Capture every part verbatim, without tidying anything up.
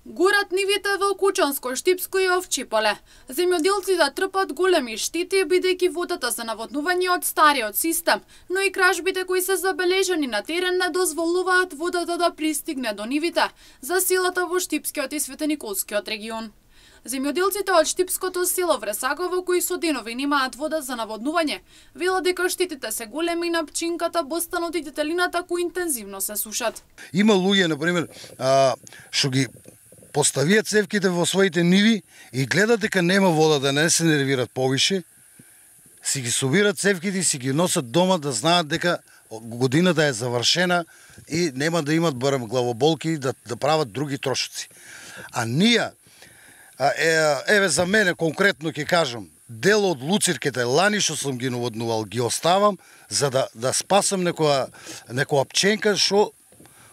Горат нивите во Кучанско, Штипско и Овчи поле. Земјоделците трпат големи штети бидејќи водата за наводнување од стариот систем, но и кражбите кои се забележани на терен не дозволуваат водата да пристигне до нивите за селата во Штипскиот и Светениколскиот регион. Земјоделците од Штипското село Вресаково, кои со денови немаат вода за наводнување, велат дека штетите се големи на пчинката, бостанот и детелината кои интензивно се сушат. Има луѓе, на пример, што ги поставиат цевките во своите ниви и гледат дека нема вода, да не се нервират повише, си ги собират цевките и си ги носат дома да знаат дека годината е завршена и нема да имат барем главоболки да, да прават други трошоци. А ние, е, еве за мене конкретно ќе кажам, дел од луцирките лани што сум ги наводнувал, ги оставам за да, да спасам некоја, некоја пченка што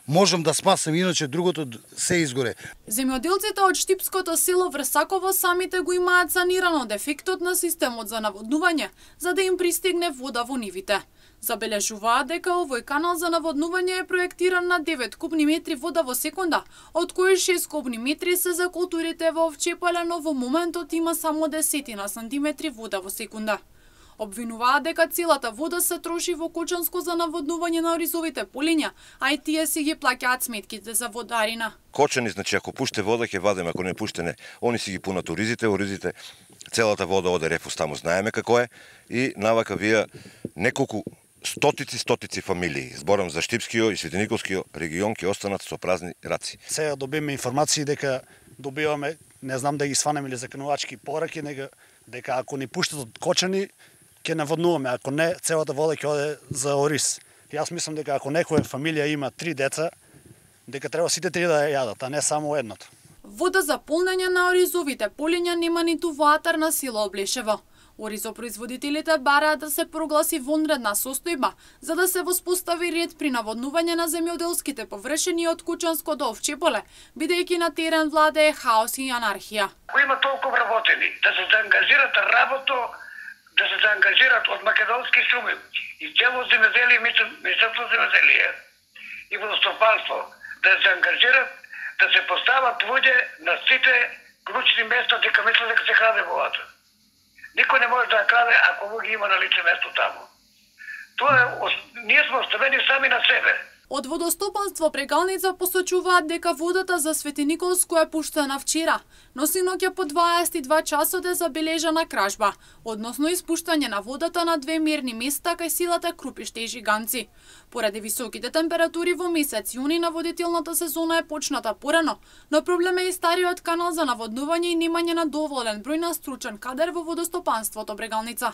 можам да спасам, иначе другото се изгоре. Земјоделците од Штипското село Врсаково самите го имаат санирано дефектот на системот за наводнување, за да им пристигне вода во нивите. Забележуваат дека овој канал за наводнување е проектиран на девет кубни метри вода во секунда, од кои шест кубни метри се за културите во овче поле, но во моментот има само десетина сантиметри вода во секунда. Обвинуваат дека целата вода се троши во Кочанско за наводнување на оризовите полиња, а и тие си ги плаќаат сметките за водарина. Кочани, значи, ако пуште вода ќе вадиме, ако не пуште не. Они си ги пунат оризите, оризите, целата вода оде рефус таму, знаеме како е, и навака вие неколку стотици, стотици фамилии, зборам за Штипскиот и Светениколскиот регион, ќе останат со празни раци. Сега добиваме информации дека добиваме, не знам да ги сванеме или заканувачки пораки, дека, дека ако ни пуштат од Кочани, ќе наводнуваме, ако не, целата вода ќе оде за ориз. Јас мислам дека ако некоја фамилија има три деца, дека треба сите три да ја јадат, а не само едното. Вода за полнење на оризовите полиња нема ниту во атар на село Облешево. Оризопроизводителите бараат да се прогласи вонредна состојба, за да се воспостави ред при наводнување на земјоделските површини од Кучанско до Овче поле, бидејќи на терен владее хаос и анархија. Кои има толку вработени, да се заангажират работо, да се заангажират од македонски суми и цело земјоделие, Министерство за земјоделие и водостопанство, да се заангажират, да се постават луѓе на сите клучни места дека мислат дека се краде водата. Никој не може да ја краде ако луѓе има на лице место таму. Тоа е, ние сме оставени сами на себе. Од водостопанство Прегалница посочуваат дека водата за Светениколско е пуштена вчера, но синоќа по дваесет и два часот е забележана кражба, односно испуштање на водата на две мерни места кај селата Крупиште и Жиганци. Поради високите температури во месец јуни наводителната сезона е почната порано, но проблем е и стариот канал за наводнување и немање на доволен број на стручен кадар во водостопанството Прегалница.